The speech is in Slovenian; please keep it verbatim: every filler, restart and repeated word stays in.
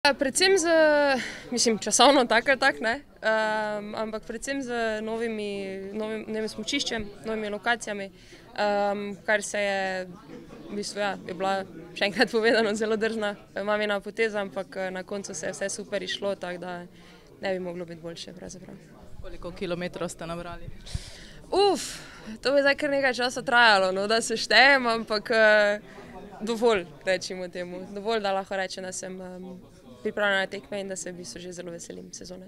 Predvsem z, mislim, časovno tako ali tako, ne, um, ampak predvsem z novimi, novim, novim smučiščem, novimi lokacijami, um, kar se je, v bistvu, ja, je bila, še enkrat povedano, zelo drzna mamina poteza, ampak na koncu se je vse super izšlo, tako da ne bi moglo biti boljše pravzaprav. Koliko kilometrov ste nabrali? Uf, to bi zdaj kar nekaj časa trajalo, no, da seštejem, ampak dovolj, recimo temu, dovolj, da lahko rečem, da sem pripravljena na tekme in da se v bistvu že zelo veselim sezone.